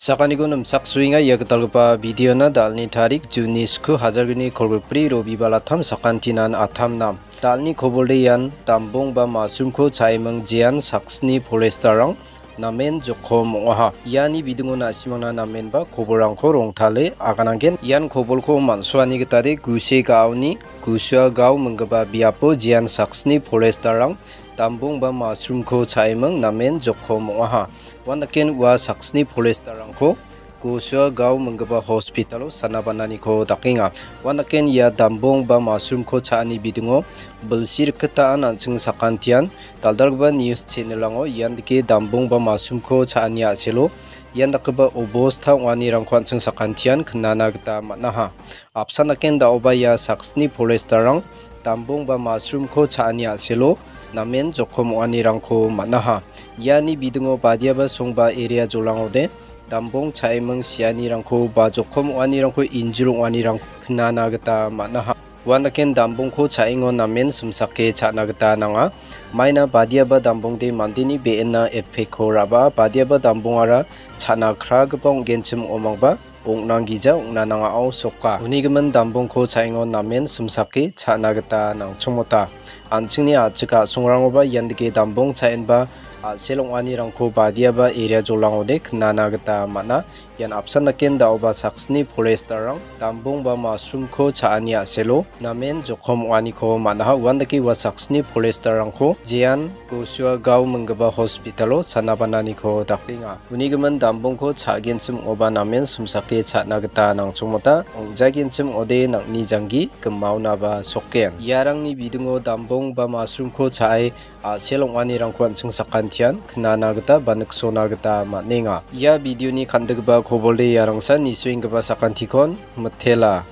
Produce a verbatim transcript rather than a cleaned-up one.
Sakaniko nimchaksoenga ia gitalgipa videona. Dalni tarik Juni sku hajar gni kolgrikbri Robibalattam sakantinan attam nam. Dalni kobolde ian dambong ba mushroomko cha·eming jean saksni foresterrang namen jokom ong·aha. Iani bidingo na·simangna namenba kobolrangko rongtale agananggen. Ian kobolko man·suani gitade guse ga·aoni Gusua gao minggipa biapo jean saksni foresterrang dambong ba mushroomko cha·eming namen jokom ong·aha. Uandaken ua saksni foresterrangko Gusua gao minggipa hospitalo sanabananiko dakenga. Uandaken ia dambong ba mushroomko cha·ani bidingo bilsi rikgitaan an·ching sakantian dal·dalgipa news channelrango ian dake dambong ba mushroomko cha·ani a·selo ian dakgipa obosta ong·anirangko an·ching sakantian knana gita man·aha. Apsan daken da·oba ia saksni foresterrang dambong ba mushroomko cha·ani a·selo namen jokom ong·anirangko man·aha. Iani bidingo badiaba songba area jolangode dambong cha·eming sianirangko ba jokom ong·anirangko injil ong·anirangko knana gita man·aha. Uandaken dambongko cha·engon namen simsake cha·na gita nanga. Maina badiaba dambongde mandeni be·enna epekko ra·baa, badiaba dambongara cha·na kragipa ong·genchim ong·omangba ong·nanggija ong·na nangao soka. Unigimin dambongko cha·engon namen simsake cha·na gita nangchongmota. An·chingni a·chik a·songrangoba ian dake dambong cha·enba a·sel ong·anirangko badiaba area jolangode knana gita man·a. Ian apsan daken da·oba saksni foresterrang dambong ba mushroomko cha·ani a·selo namen jokom ong·aniko man·aha. Uandake ua saksni foresterrangko jean Gusua gao minggipa hospitalo sanabananiko dakenga. Unigimin dambongko cha·genchim ong·oba namen simsake cha·na gita nangchongmota. Ong·jagenchim ong·ode nang·ni janggi gimaonaba soken. Iarangni bidingo dambong ba mushroomko cha·e a·sel ong·anirangko an·ching sakantian knana gita ba niksona gita man·enga. Ia videoni kan·diggipa kobolde iarangsan nisoenggipa sakantikon mitela.